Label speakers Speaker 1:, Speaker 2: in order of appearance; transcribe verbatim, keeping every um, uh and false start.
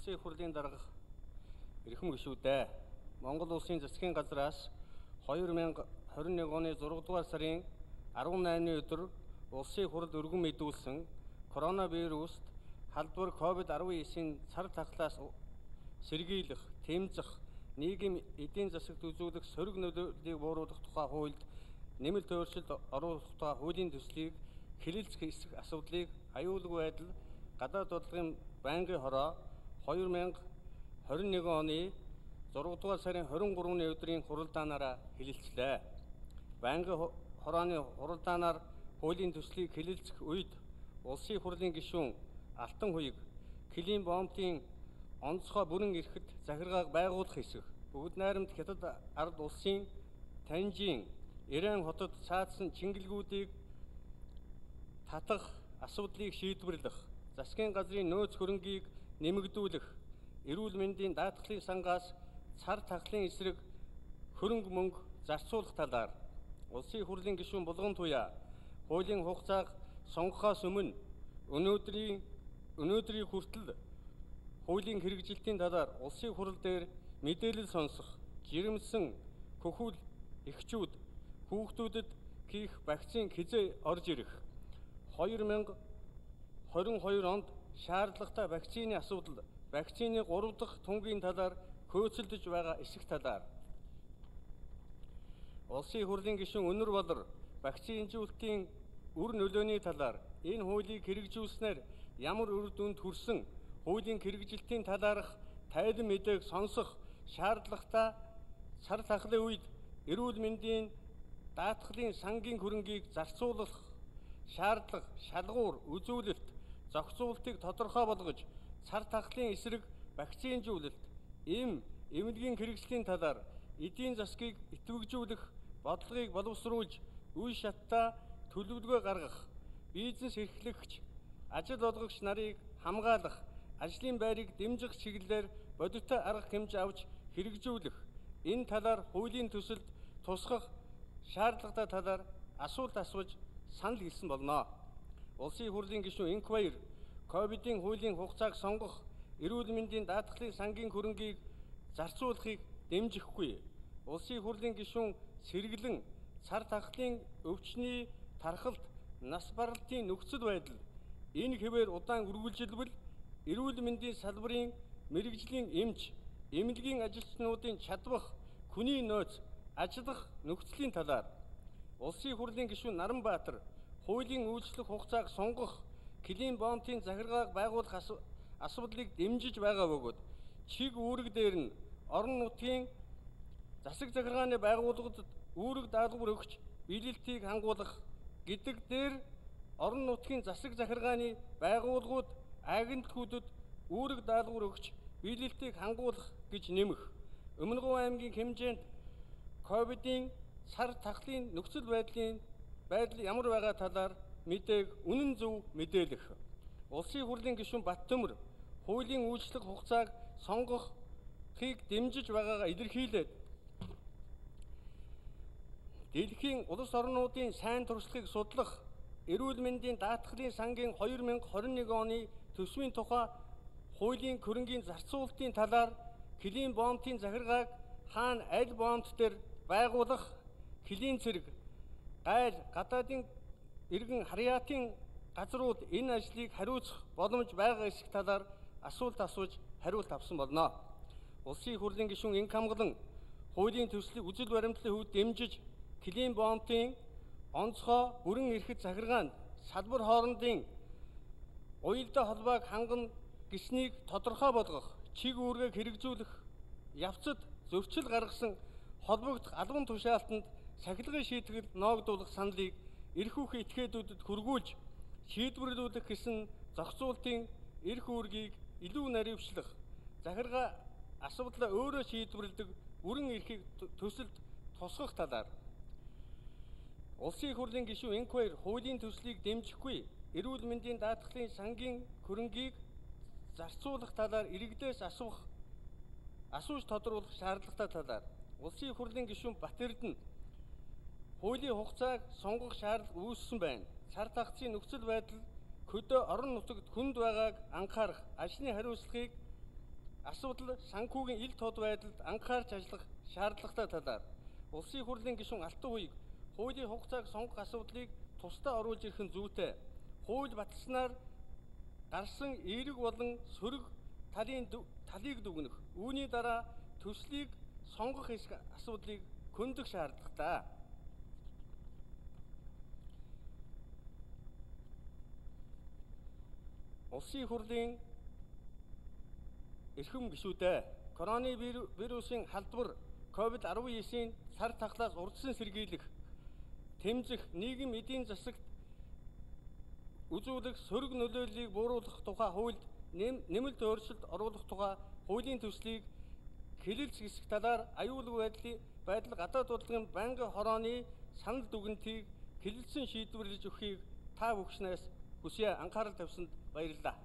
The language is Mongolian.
Speaker 1: Улсын их хурлын дарга эрхэм гишүүдээ Монгол Улсын засгийн газраас хоёр мянга хорин нэг оны зургаадугаар сарын арван наймны өдөр Улсын их хурл өргөн мэдүүлсэн коронавируст халдвар ковид арван девятын цар тахлаас сэргийлэх, тэмцэх, нийгэм эдийн засагт үзүүлэх сөрөг нөлөөллийг бууруулах тухай хуульд нэмэлт өөрчлөлт оруулах тухай хуулийн төслийг хэлэлцэх эсрэг асуудлыг аюулгүй байдал гадаад бодлогын байнгын хороо хоёр мянга хорин нэгэн оны зургаадугаар сарын хорин гурваны өдрийн хуралдаанаараа хэлэлцлээ. Байнгын хорооны хуралдаанаар хуулийн төслийг хэлэлцэх үед Улсын их хурлын гишүүн Алтан хуйг Килим Бомтын онцгой бүрэн эрхэт захиргааг байгуулах хэсэг бүгд найрамд хятад ард улсын Танжин Иран хотод цаадсан чингэлгүүдийг татах асуудлыг шийдвэрлэх, засгийн газрын нөөц хөрөнгийг нэмэгдүүлэх, эрүүл мэндийн даатгалын сангаас цар тахлын эсрэг хөрөнгө мөнгө зарцуулах талаар Улсын их хурлын гишүүн Булган туяа хуулийн хугацааг сонгохоос өмнө өнөөдрийн өнөөдрийн хүртэл хуулийн хэрэгжилтийн талаар Улсын их хурл дээр мэдээлэл сонсох, жирэмсэн хөхүүл эхчүүд хүүхдүүдэд хийх вакцин хизээ орж ирэх, хоёр мянга хорин хоёр онд шаардлагатай вакцины асуудал, вакцины гурав дахь тунгийн талаар хөөцөлдөж байгаа эсэх талаар Улсын их хурлын гишүүн Өнөр Болор вакцинжуулалтын үр нөлөөний талаар энэ хуулийг хэрэгжүүлснээр ямар үр дүнд хүрсэн хуулийн хэрэгжилтийн талаарх тайлан мэдээг сонсох шаардлагатай цар тахлын үед эрүүл мэндийн даатгалын сангийн хөрөнгийг зарцуулах шаардлага, шалгуур, үзүүлэлт, зохицуултыг тодорхой болгож цар тахлын эсрэг вакцинжуулалт, эм, эмнэлгийн хэрэгслийн талаар эдийн засгийг идэвхжүүлэх бодлогыг боловсруулж үе шаттай төлөвлөгөө гаргах, бизнес эрхлэгч, ажил олгогч нарыг хамгаалах, ажлын байрыг дэмжих чиглэлээр бодиттой арга хэмжээ авч хэрэгжүүлэх, энэ талаар хуулийн төсөлд тусгах шаардлагатай талаар асуулт асууж санал хэлсэн болно. Улсын их хурлын гишүүн Инх Баяр ковидын хуулийн хугацааг сонгох, эрүүл мэндийн даатгалын сангийн хөрөнгийг зарцуулахыг дэмжихгүй. Улсын их хурлын гишүүн Сэргэлэн цар тахлын өвчний тархалт, нас баралтын нөхцөл байдал энэ хэвээр удаан үргэлжилбэл эрүүл мэндийн салбарын мэрэгжлийн эмч, эмнэлгийн ажилчнуудын чадвах, хүний нөөц, ажиллах нөхцөлийн талаар Улсын их хурлын гишүүн Наранбаатар хуулийн үйлчлэх хугацааг сонгох, Килим Бомтын захиргааг байгуулах асуудлыг дэмжиж байгаа бөгөөд чиг үүрэг дээр нь орон нутгийн засаг захиргааны байгууллагад үүрэг даалгавар өгч биелэлтийг хангуулах гэдэг дээр орон нутгийн засаг захиргааны байгууллагууд агентлагуудад үүрэг даалгавар өгч биелэлтийг хангуулах гэж нэмэх, Өмнөгов аймгийн хэмжээнд ковидын цар тахлын нөхцөл байдлын байдал ямар байгаа талаар мэдээг үнэн зөв мэдээлэх. Улсын их хурлын гишүүн Баттөмөр хуулийн үйлчлэх хугацааг сонгохыг дэмжиж байгаагаа илэрхийлээд дэлхийн улс орнуудын сайн туршлагыг судлах, эрүүл мэндийн даатгалын сангийн хоёр мянга хорин нэгэн оны төсвийн тухай хуулийн хөрөнгийн зарцуулалтын талаар Килим Бомтын захиргааг хаана аль бомт дээр байгуулах, Килим цэрэг, гайл, гадаадын иргэн харьяатын газрууд энэ ажлыг хариуцах боломж байгаа эсэх талаар асуулт асууж хариулт авсан болно. Улсын их хурлын гишүүн Инх Хамгалан хуулийн төслийг үзэл баримтлалын хувьд дэмжиж Килим Бомтын онцгой бүрэн эрхэт захиргаанд салбар хоорондын уялдаа холбоог хангана гэснийг тодорхой болгох, чиг үүргийг хэрэгжүүлэх явцад зөрчил гаргасан холбогдох албан тушаалтанд сахилгын шийтгэл ноогдуулах саналыг эрх үүргийн этгээдүүдэд хүргүүлж шийдвэрлүүлэх гэсэн зохицуултын эрх үүргийг илүү наривчлах, захиргаа асуудлаа өөрөө шийдвэрлэдэг бүрэн эрхийг төсөлд тусгах талаар Улсын их хурлын гишүүн Инх Баяр хуулийн төслийг дэмжихгүй, эрүүл мэндийн даатгалын сангийн хөрөнгийг зарцуулах талаар иргэдээс асуух асууж тодруулах шаардлагатай талаар Улсын их хурлын гишүүн Бат Эрдэнэ хуулийн хугацааг сонгох шаардлага үүссэн байна. Цар тахлын нөхцөл байдал хөдөө орон нутагт хүнд байгааг анхаарах, ажлын хариуцлагыг асуудал санхүүгийн ил тод байдалд анхаарч ажиллах шаардлагатай талаар улсын хурлын гишүүн Алтан хуйг хуулийн хугацааг сонгох асуудлыг тусдаа оруулж ирэх нь зүйтэй. Хууль баталснаар гарсан эерэг болон сөрөг талын талыг дүгнэх. Үүний дараа төслийг сонгох асуудлыг хөндөх шаардлагатай. Улсын хурлын эрхэм гишүүдээ короны вирусын халдвар ковид арван девятийн сар тахлаас урдсан сэргийлэх, тэмцэх, нийгэм эдийн засагт үзүүлэх сөрөг нөлөөллийг бууруулах тухай хуульд нэмэлт өөрчлөлт оруулах тухай хуулийн төслийг хэлэлц хэсэг талаар аюулгүй байдлын байдал гадаад бодлогын байнгын хорооны санал дүгнэлтийг хэлэлцэн шийдвэрлэж өгөхийг та бүхнээс хүсье. Анхаарал тавьсанд баярлалаа.